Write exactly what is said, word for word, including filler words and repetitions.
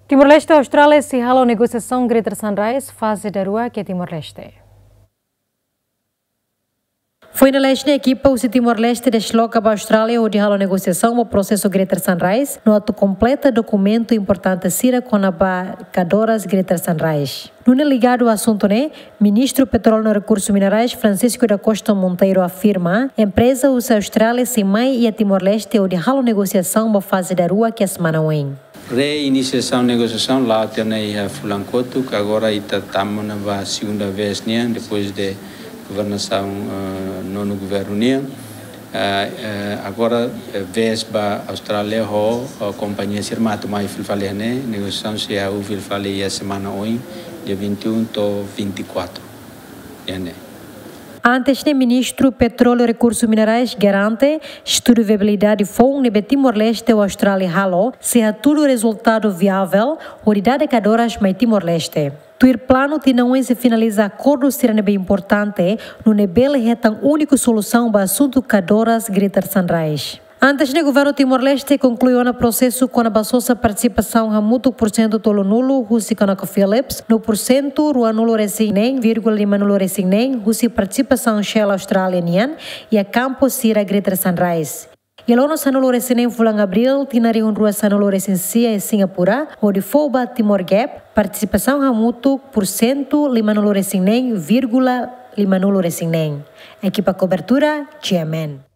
Timor-Leste ho Austrália sei halo negosiasaun Greater Sunrise faze daruak iha Timor-Leste. Foin dala haat ne'e ekipa husi Timor-Leste desloka ba Austrália hodi halo negosiasaun ba prosesu Greater Sunrise no atu kompleta dokumentu importante sira kona-ba kadoras Greater Sunrise. Nune'e ligadu asuntu ne'e, Ministru Petróleu no Rekursu Minerais, Francisco da Costa Monteiro, afirma empreza husi Austrália sei mai iha Timor-Leste hodi halo negosiasaun ba faze daruak iha semana oin. Reinisiasaun negosiasaun la'o tiha ona iha fulan kotuk, agora ita tama ona ba segunda vez nian, depois de governasaun, eh, nonu governu nian. Eh, eh, agora, eh, vez ba Austrália ho, eh, kompañia sira mak atu mai fila fali iha ne'e, negosiasaun sei hahú fila fali iha semana oin, dia vinte e um to'o vinte e quatro. Iha ne'e. Antes ne'e, Ministru Petróleu Rekursu Minerais garante estudu viabilidade foun ne'ebé Timor-Leste ho Austrália halo sei hatudu rezultadu viável hodi dada kadoras mai Timor-Leste. Tuir planu, tinan oin sei finaliza akordu sira ne'ebé importante, nune'e bele hetan úniku solusaun ba asuntu kadoras Greater Sunrise. Antes ne'e, governu Timor-Leste konklui ona prosesu kona-ba sosa partisipasaun hamutuk porsentu tolunulu husi ConocoPhillips no porsentu ruanulu resin neen vírgula limanulu resin neen husi partisipasaun Shell Austrália nian iha kampu sira Greater Sunrise. Iha loron sanulu resin neen fulan Abríl, tinan rihun rua sanulu resin sia, iha Singapura, hodi fó ba Timor Gap partisipasaun hamutuk porsentu limanulu resin neen vírgula limanulu resin neen. Ekipa kobertura, G M N.